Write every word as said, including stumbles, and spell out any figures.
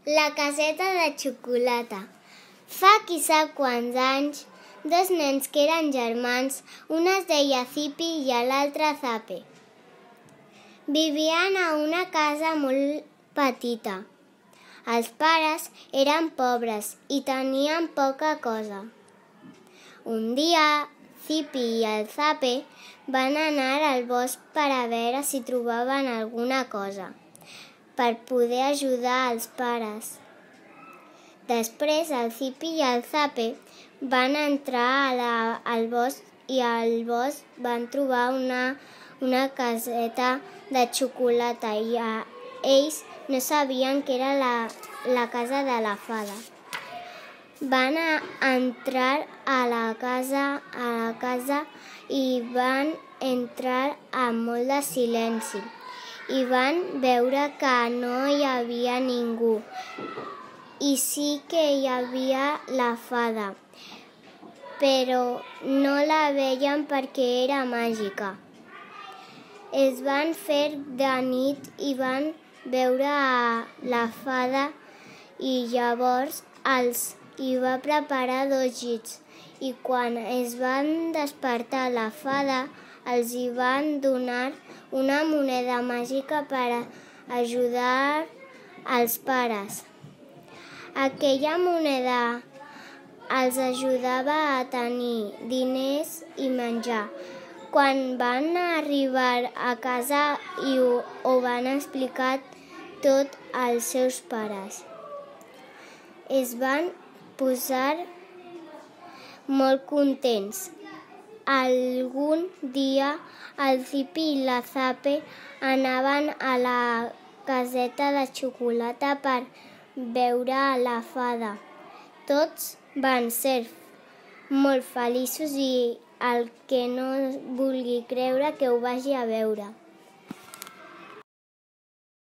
La caseta de xocolata. Fa qui sap quants anys, dos nens que eren germans, un es deia Zipi i l'altre Zape. Vivien a una casa molt petita. Els pares eren pobres i tenien poca cosa. Un dia, Zipi i el Zape van anar al bosc per a veure si trobaven alguna cosa per poder ajudar els pares. Després, el Zipi i el Zape van entrar a la, al bosc i al bosc van trobar una, una caseta de xocolata i a, ells no sabien que era la, la casa de la fada. Van a entrar a la casa, a la casa i van entrar amb molt de silenci i van veure que no hi havia ningú i sí que hi havia la fada, però no la veien perquè era màgica. Es van fer de nit i van veure a la fada i llavors els hi va preparar dos llits i quan es van despertar la fada els hi van donar una moneda màgica per ajudar els pares. Aquella moneda els ajudava a tenir diners i menjar. Quan van arribar a casa i ho, ho van explicar tot als seus pares, es van posar molt contents. Algun dia el Zipi i la Zape anaven a la caseta de xocolata per veure la fada. Tots van ser molt feliços i el que no vulgui creure que ho vagi a veure.